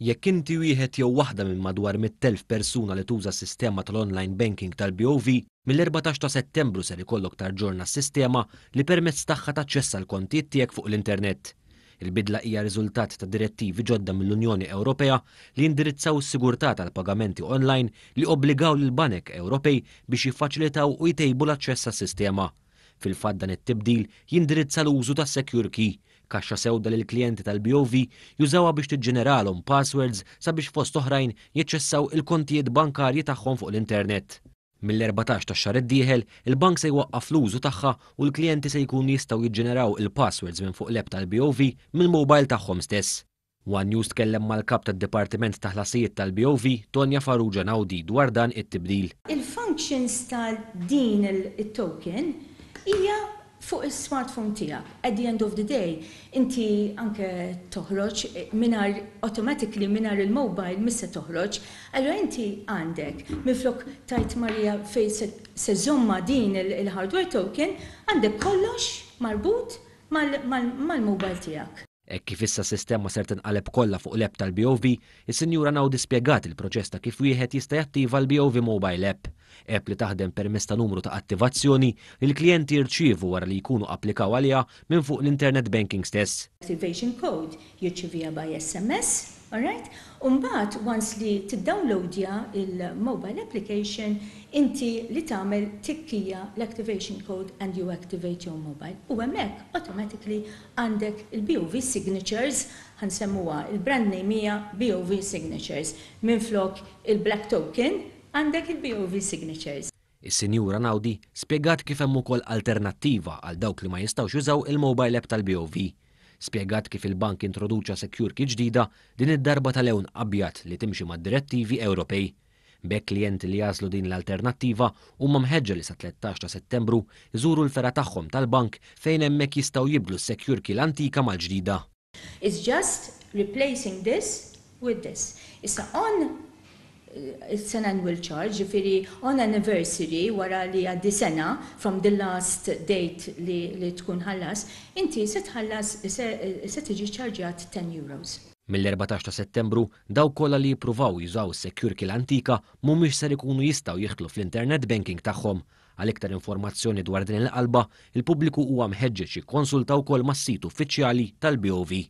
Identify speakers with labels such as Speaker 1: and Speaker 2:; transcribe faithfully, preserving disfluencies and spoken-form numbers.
Speaker 1: Jekk inti wieħed jew waħda minn madwar mitt elf persuna li tuża s-sistema tal-online banking tal-B O V, mill-erbatax ta' Settembru ser ikollok taġġorna s-sistema li permezz tagħha taċċessa l-kontijiet tiegħek fuq l-internet. Il-bidla hija riżultat ta' direttivi ġodda mill-Unjoni Ewropea li jindirizzaw is-sigurtà tal-pagamenti online, li obbligaw lil banek Ewropej biex jiffaċilitaw u jtejbu l-aċċess għas-sistema. Fil-fatt, dan it-tibdil jindirizza l-użu ta' Secure Key, kaxxa sewda li l-klijenti tal-B O V jużawha biex tiġġeneralhom passwords sabiex, fost oħrajn, jaċċessaw il-kontijiet bankarji tagħhom fuq l-internet. Mill-erbatax ta' xahar id-dieħel, il-bank se jwaqqaf l-użu tagħha u l-klijenti se jkunu jistgħu jiġġeneraw il-passwords minn fuq l-app tal-B O V mill-mobile tagħhom stess. One News tkellem mal-kap tad-Dipartiment ta' Ħlasijiet tal-B O V, Tonja Farrugia Naudi, dwar dan it-tibdil.
Speaker 2: Il-functions ta' din il-token hija fuq il-smartphone tiegħek. At the end of the day, inti anke toħroġ mingħajr, automatically mingħajr il-mobile mhux se toħroġ. Allora inti għandek, minflok tgħid, "Marija, fejn se żżommha din il-hardware token?" għandek kollox marbut mal-mobile tiegħek.
Speaker 1: Hekk kif issa sistema ser tinqaleb kollha fuq l-app tal-B O V, is-Sinjura Naudi spjegat il-proċess ta' kif wieħed jista' jattiva l-B O V Mobile App. App li taħdem permezz ta' numru ta' attivazzjoni li l-klijenti jirċievu wara li jkunu applikaw għaliha minn fuq l-internet banking stess.
Speaker 2: Activation code jirċiviha by S M S, alright? Umbagħad, once li tiddownloadja il-mobile application, inti li tagħmel tikkija l-activation code and you activate your mobile. U hemmhekk automatically għandek il-B O V signatures, ħa nsemmuha, il-brand name hija B O V signatures. Minflok il-black token, għandek il-B O V signatures.
Speaker 1: Is-Sinjura Naudi spjegat kif hemm ukoll alternattiva għal dawk li ma jistgħux jużaw il-mobile app tal-B O V. Spjegat kif il-bank introduċa Secure Key ġdida, din id-darba tal-lewn abjad, li timxi mad-direttivi Ewropej. B'hekk, klijenti li jagħżlu din l-alternattiva huma mħeġġa li sa tlettax ta' Settembru jżuru l-fergħa tagħhom tal-bank, fejn hemmhekk jistgħu jibdlu s-Secure Key l-antika mal-ġdida.
Speaker 2: It's just replacing this with this. Issa on it's an annual charge, ġifieri on anniversary, wara li għaddi sena from the last date li, li tkun ħallas, inti se tħallas, se, se tiġi ċarġjat ten euros.
Speaker 1: Mill-erbatax ta' Settembru, dawk kollha li jippruvaw jużaw is-Secure Key l-antika mhumiex ser ikunu jistgħu jidħlu fl-internet banking tagħhom. Għal iktar informazzjoni dwar din il-qalba, il-pubbliku huwa mħeġġeġ jikkonsulta wkoll mas-sit uffiċjali tal-B O V.